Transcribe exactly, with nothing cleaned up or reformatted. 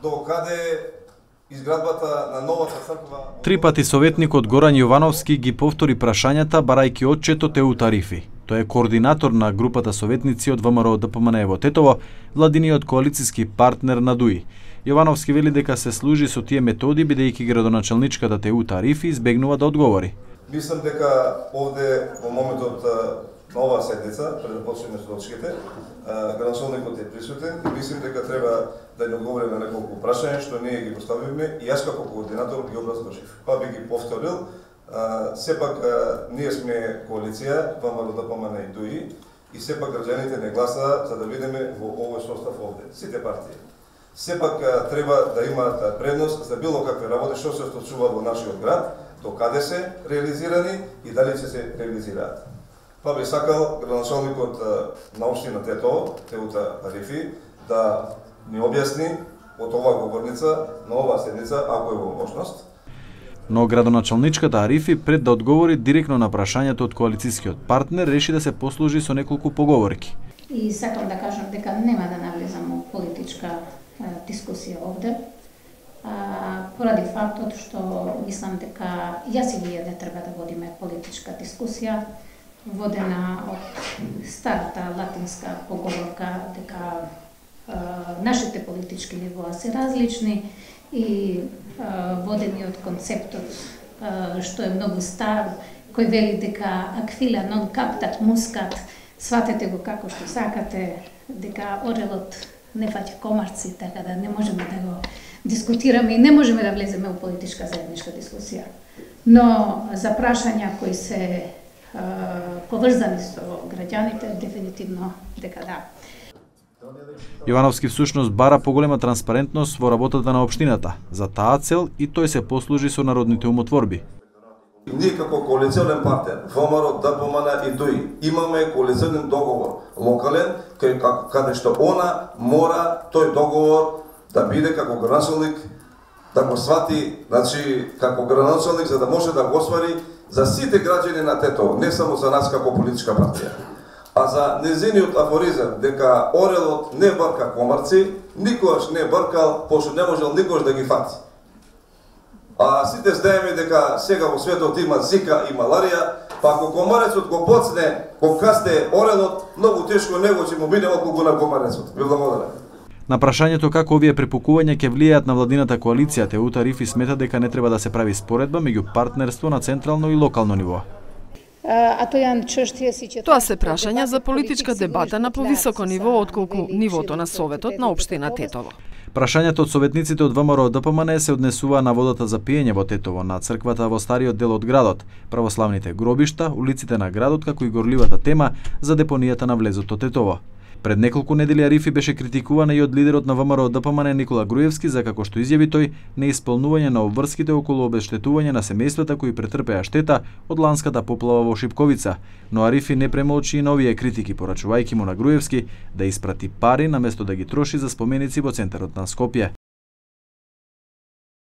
до каде изградбата на новата црква. Три пати советникот Горан Јовановски ги повтори прашањата барајќи отчет од ЕУ тарифи. Тој е координатор на групата советници од ВМРО Д П М Н во Тетово, владиниот коалициски партнер на ДУИ. Јовановски вели дека се служи со тие методи бидејќи градоначалничката ЕУ тарифи избегнува да одговори. Мислам дека овде во моментот на оваа седница, пред да почнеме со точките, градоначалникот е присутен и мислим дека треба да ни одговори на неколку прашања што ние ги поставивме и јас како координатор ги образложив. Па би ги повторил. Сепак ние сме коалиција ВМРО Д П М Н и ДУИ и сепак граѓаните не гласаа за да видиме во овој состав овде, сите партии. Сепак треба да имаат предност за било какви работи што се случува во нашиот град, до каде се реализирани и дали ќе се реализираат. Па би сакал градоначалникот на општина Тетово, ЕУ тарифи, да ни објасни од оваа говорница на оваа седница, ако е во можност. Но градоначалничката Арифи, пред да одговори директно на прашањето од коалицискиот партнер, реши да се послужи со неколку поговорки. И сакам да кажам дека нема да навлезам во политичка е, дискусија овде, а, поради фактот што мислам дека јас и вие не треба да водиме политичка дискусија, водена од старата латинска поговорка дека е, нашите политички нивоа се различни и водени од концептот што е многу стар, кој вели дека аквила нон каптат мускат, сватете го како што сакате, дека орелот не фаќа комарци, така да не можеме да го дискутираме и не можеме да влеземе во политичка заедничка дискусија. Но за прашања кои се поврзани со граѓаните, дефинитивно дека да. Јовановски всушност бара поголема транспарентност во работата на општината. За таа цел и тој се послужи со народните умотворби. Ние како коалиционен партнер, ВМРО, Д П М Н и ДУИ, имаме коалиционен договор локален, каде што она мора тој договор да биде како градоначалник, да го свати, значи како градоначалник за да може да го оствари за сите граѓани на Тетово, не само за нас како политичка партија. А за незиниот афоризам дека орелот не брка комарци, никогаш не бркал, пошто не можел никогаш да ги фати. А сите знаеме дека сега во светот има зика и маларија, па ако комарецот го поцне, кога касте орелот, многу тешко него ќе му биде околку на комарецот. Ви благодарам. На прашањето како овие препукувања ќе влијаат на владината коалиција, ЕУ тарифи смета дека не треба да се прави споредба меѓу партнерство на централно и локално ниво. Тоа се прашања за политичка дебата на повисоко ниво отколку нивото на Советот на општина Тетово. Прашањата од советниците од ВМРО Д П М Н се однесуваа на водата за пиење во Тетово, на црквата во стариот дел од градот, православните гробишта, улиците на градот, како и горливата тема за депонијата на влезот од Тетово. Пред неколку недели Арифи беше критикувана и од лидерот на ВМРО Д П М Н Никола Груевски за, како што изјави тој, неисполнување на обврските околу обештетување на семејствата кои претрпеа штета од ланската поплава во Шипковица, но Арифи не премолчи и на овие критики, порачувајќи му на Груевски да испрати пари наместо да ги троши за споменици во центарот на Скопје.